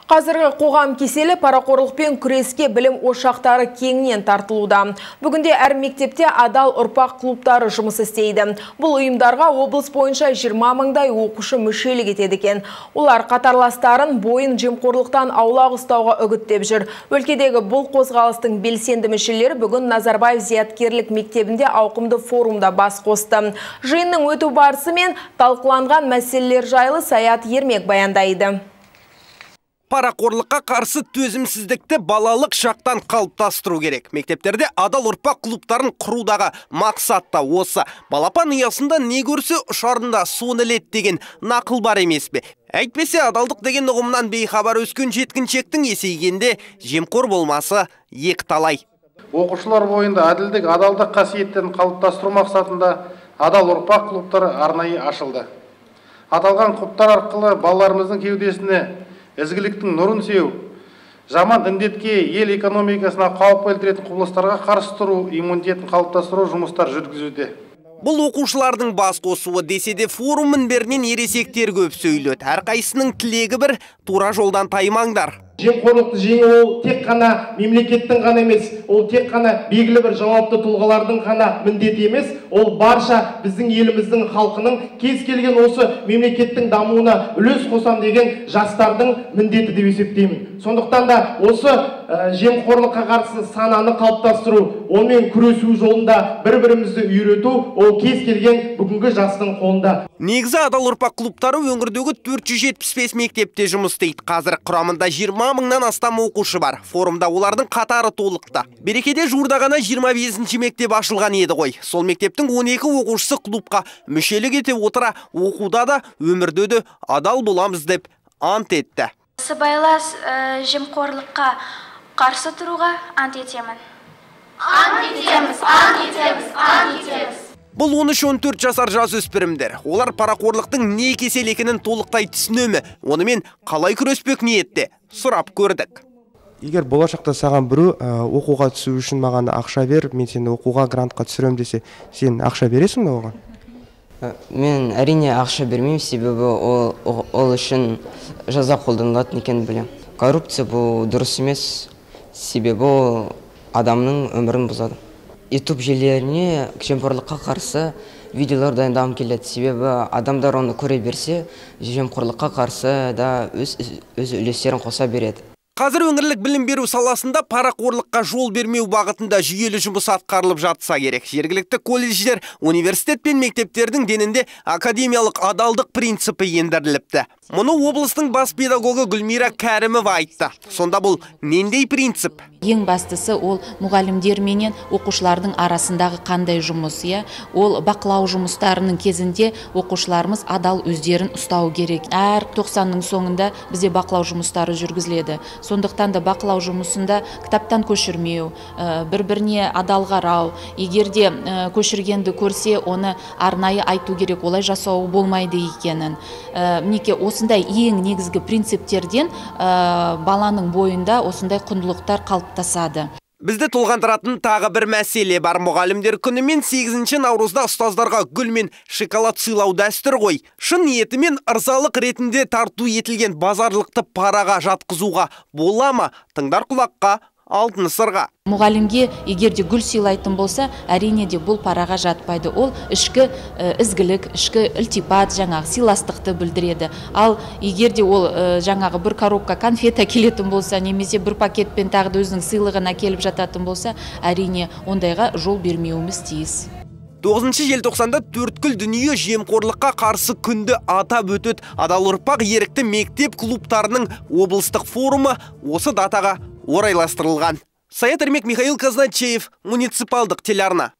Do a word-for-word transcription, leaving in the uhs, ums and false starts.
Қазіргі қоғам кеселі парақорлықпен күреске білім ошақтары кеңінен тартылуда. Бүгінде әр мектепте адал ұрпақ клубтары жұмыс істейді. Бұл ұйымдарға облыс бойынша жиырма мыңдай оқушы мүшелік етеді екен. Олар қатарластарын бойын жемқорлықтан аулақ ұстауға үгіттеп жүр. Өлкедегі бұл қозғалыстың белсенді мүшелері бүгін Назарбаев зияткерлік мектебінде ауқымды форумда бас қосты. Жиынның өту барысы мен талқыланған мәселелер жайлы Саят Ермек баяндайды. Парақорлыққа қарсы төзімсіздікті балалық шақтан қалыптастыру керек. Мектептерде адал ұрпақ клубтарын құрудағы мақсат та осы. Балапан ұясында не көрсе ұшарында соны іледі деген нақыл бар емес пе? Әйтпесе адалдық деген ұғымнан бейхабар өскен жеткіншектің есейгенде жемқор болмасы екі талай. Оқушылар бойында әділдік, адалдық қасиеттерін қалыптастыру мақсатында адал ұрпақ клубтары арнайы ашылды. Аталған клубтар арқылы балаларымыздың кеудесіне ізгіліктің нұрын сеу, жаман індетке, ел экономикасына қауіп келтіретін құбылыстарға қарсы тұру, иммунитетін қалыптастыру жұмыстар жүргізуде. Бұл оқушылардың бас қосуы десе де форум мінберінен ересектер көп сөйледі. Әрқайсының тілегі бір, тура жолдан таймаңдар. Жемқорлықты жеңу ол тек қана мемлекеттің ғана емес, ол тек қана белгілі бір жауапты тұлғалардың ғана міндеті емес, ол барша біздің еліміздің халқының кез келген осы мемлекеттің дамуына үлес қосам деген жастардың міндеті деп есептеймін. Сондықтан да осы ә, жемқорлыққа қарсы сананы қалыптастыру, онымен күресу жолында бір-бірімізді үйрету, ол кез келген бүгінгі жастың қолында. Негізі адал ұрпақ клубтары өңірдегі төрт жүз жетпіс бес мектепте жұмыс істейді. Қазір құрамында жиырма мыңнан астам оқушы бар. Форумда олардың қатары толықты. Берекеде жуырда ғана жиырма бесінші мектеп ашылған еді ғой. Сол мектептің он екі оқушысы клубқа мүшелік ете отыра, оқуда да, өмірде де адал боламыз деп ант етті. Сыбайлас ә, жемқорлыққа қарсы тұруға ант етемін. Ант етеміз, ант етеміз, ант етеміз. Бұл он үш он төрт жасар жасөспірімдер. Олар парақорлықтың не кесел екенін толықтай түсінемі? Онымен қалай күреспек ниетте? Сұрап көрдік. Егер болашақта саған біреу оқуға түсу үшін маған ақша бер, мен сені оқуға грантқа түсірем десе, сен ақша бересің бе оған? Мен әрине ақша бермеймін, себебі ол, ол үшін жаза қолданылатын екенін білемін. Коррупция бұл дұрыс емес, себебі ол адамның өмірін бұзады. YouTube желілеріне жемқорлыққа қарсы видеолар дайындағым келеді, себебі адамдар оны көре берсе, жемқорлыққа қарсы да өз, өз үлестерін қоса береді. Қазір өңірлік білім беру саласында парақорлыққа жол бермеу бағытында жүйелі жұмыс атқарылып жатса керек. Жергілікті колледждер, университет пен мектептердің денінде академиялық адалдық принципі ендіріліпті. Мұны облыстың бас педагогы Гүлмира Кәрімова айтты. Сонда бұл нендей принцип? Ең бастысы ол мұғалімдер менен оқушылардың арасындағы қандай жұмыс, иә? Ол бақылау жұмыстарының кезінде оқушыларымыз адал өздерін ұстау керек. Әр тоқсанның соңында бізде бақылау жұмыстары жүргізіледі. Сондықтан да бақылау жұмысында кітаптан көшірмеу, бір-біріне адал қарау, егерде көшіргенді көрсе, оны арнайы айту керек, олай жасау болмайды екенін. Мінеке, осындай ең негізгі принциптерден баланың бойында осындай құндылықтар қалыптасады. Бізді толғандыратын тағы бір мәселе бар. Мұғалімдер күні мен сегізінші наурызда ұстаздарға гүл мен шоколад сыйлау дәстүр ғой. Шын ниетімен ырзалық ретінде тарту етілген базарлықты параға жатқызуға бола ма? Тыңдар құлаққа, алтын сырға. Мұғалімге егерде гүл сыйлайтын болса, әрине де бұл параға жатпайды. Ол ішкі ізгілік, ішкі ілтипат, жаңағы сыйластықты білдіреді. Ал егерде ол жаңағы бір коробка конфет әкелетін болса, немесе бір пакетпен тағы да өзінің сыйлығын әкеліп жататын болса, әрине ондайға жол бермеуіміз тиіс. тоғызыншы желтоқсанда төрткүл дүние жемқорлыққа қарсы күнді атап өтеді. Адал ұрпақ ерікті мектеп клубтарының облыстық форумы осы датаға орайластырылған. Саят Ермек, Михаил Казначеев, муниципалдық телеарна.